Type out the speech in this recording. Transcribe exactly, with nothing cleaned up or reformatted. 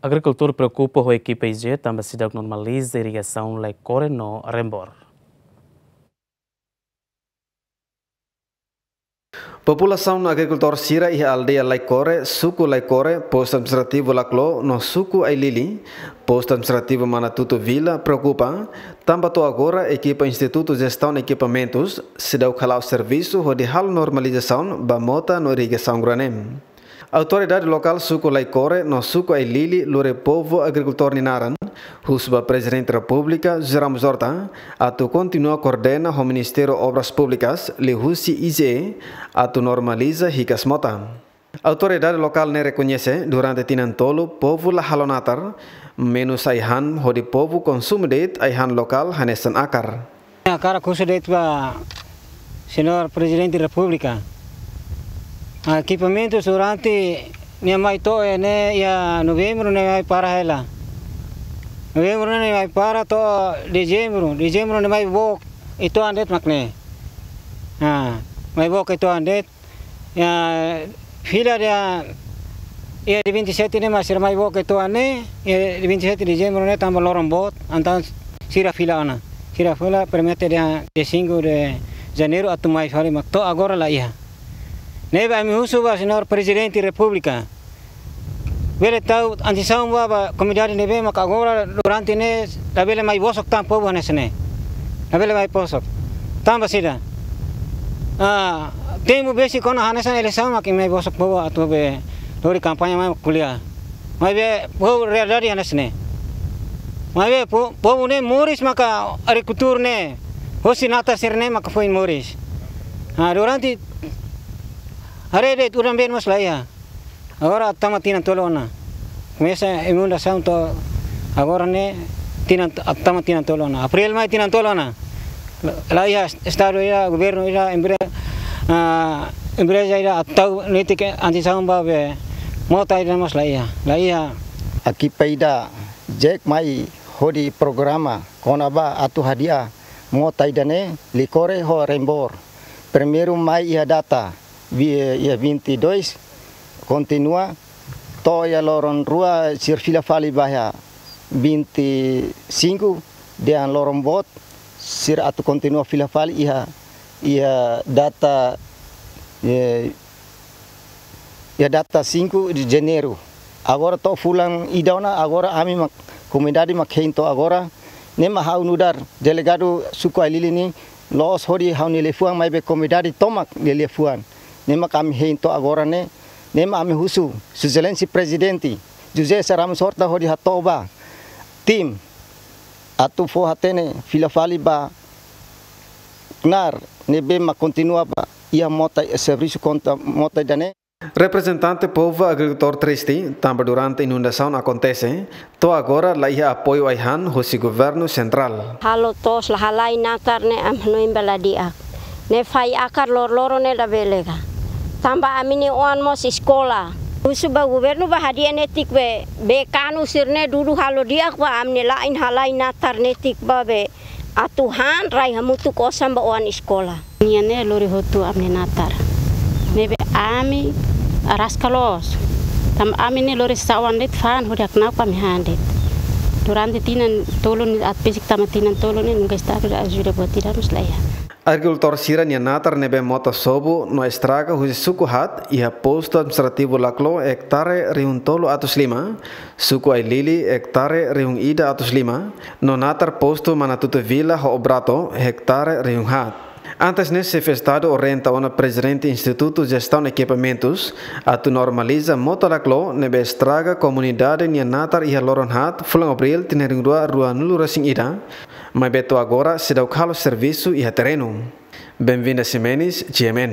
Agrikultór preokupa ho ekipa I G E tanba seidauk normaliza irrigasaun Laikore no Rembor. Populasaun agrikultór sira iha aldeia Laikore, suku Laikore, postu administrativu Laclo, no suku Ailili, postu administrativu Manatuto Vila, preokupa tanba to'o agora ekipa Institutu Jestaun Ekipamentus seidauk hala'o servisu hodi halo normalizasaun ba mota no irrigasaun gro-anem. Autoridade lokál suku Laikore no suku Ailili lori povu agrikultór nia naran, husu ba Prezidente Repúblika José Ramos Horta atu kontinua koordena ho Ministériu Obras Públikas liuhusi I G E atu normaliza hikas mota. Autoridade lokál ne'e rekoñese durante tinan tolu povu la halo natar, menus ai-han hodi povu konsumu de'it ai-han lokál hanesan akar. Hakarak husu de'it ba Señór Prezidente Repúblika. Ah, ekipamentus durante nia mai to'o ne'e iha Novembru ne'e mai para hela. Novembru ne'e mai para to'o Dezembru. Dezembru ne'e mai book uitoan de'it mak ne'e. Ah, mai book uitoan de'it. Iha fila dia, iha dia vinte e sete ne'e mak sira mai book uitoan ne'e, iha dia vinte e sete Dezembru ne'e tanba loron boot, entaun sira fila ona. Sira fila promete dia dia cinco de Janeiro atu mai fali mak to'o agora la iha. Ne'ebé ami husu ba Señór Prezidente Repúblika. Bele tau atensaun ba, ba komunidade ne'ebé maka agora durante ne'e labele mai bosok tan povu hanesan ne'e. Labele mai bosok. Tanba saida? Ah, tempu besik ona hanesan eleisaun mak mai bosok povu atu be lori kampaña mai ko'alia. Maibé povu realidade hanesan ne'e. Maibé po-, povu ne'e moris maka agrikultór ne'e. Hosi natar sira-ne'e maka foin moris. Ah, durante haree de'it udan-been mós la iha. Agora tama tinan tolu ona. Komesa inundasaun to'o agora ne'e tinan, tama tinan tolu ona. Abríl mai tinan tolu ona. La, la iha estadu ida, governu ida, empre-, ah, empreza ida atu tau netik atensaun ba be mota ida mós la iha. La iha. Ekipa ida jek mai hodi programa kona-ba atu hadi'a mota ida-ne'e Likore ho Rembor. Primeiru mai iha data vi-, iha vinte e dois, kontinua to'o iha loron rua sira fila fali ba iha vinte e cinco, dehan loron boot sira atu kontinua fila fali iha, iha data, eh, iha data cinco de Janeiro. Agora to'o fulan ida ona, agora ami mak, komunidade mak hein to'o agora, ne'e mak ha'u nu'udar delegadu suku Ailili ne'e, loos hodi ha'u-nia liafuan maibé komunidade tomak nia liafuan. Ne'e mak ami hein to'o agora ne'e, ne'e mak ami husu, Sua Exelénsia Prezidente José Ramos Horta hodi hato'o ba tim atu fó hatene fila fali ba knaar ne'ebé mak kontinua ba iha mota, servisu kontra mota ida-ne'e. Reprezentante povu agrikultór triste, tanba durante inundasaun akontese, to'o agora la iha apoiu ai-han husi governu sentrál. Halo to'os la halai natar ne'e ami hanoin ba la di'ak. Ne'e fai akar loroloron ne'e labele ka. Tanba ami-nia oan mós eskola. Husu ba governu ba hadi'a netik be, be kanu sira-ne'e dudu halo di'ak ba ami-nia la'en halai natar netik ba be atu han rai hamutuk osan ba oan eskola. Nian ne'e lori hotu ami-nia natar. Ne'ebé ami araska loos. Tanba ami ne'e lori sasán de'it fa'an hodi hakna'ak ami han de'it. Durante tinan tolu ne'e atu besik tama tinan tolu ne'e nunka estadu la ajuda buat ida mós la iha. Agrikultór sira-nia natar ne'ebé mota sobu no estraga husi suku haat iha postu administrativu Laclo ektare rihun tolu atus lima, suku Ailili ektare rihun ida atus lima, no natar postu Manatuto Vila ho Obrato ektare rihun haat. Antes ne'e xefe estadu orienta ona Prezidente Institutu Jestaun Ekipamentus atu normaliza mota Laclo ne'ebé estraga komunidade nia natar iha loron haat fulan Abríl tinan rihun rua ruanulu resin ida, maibé to'o agora seidauk halo servisu iha terrenu. Benvinda Ximenes, G M N.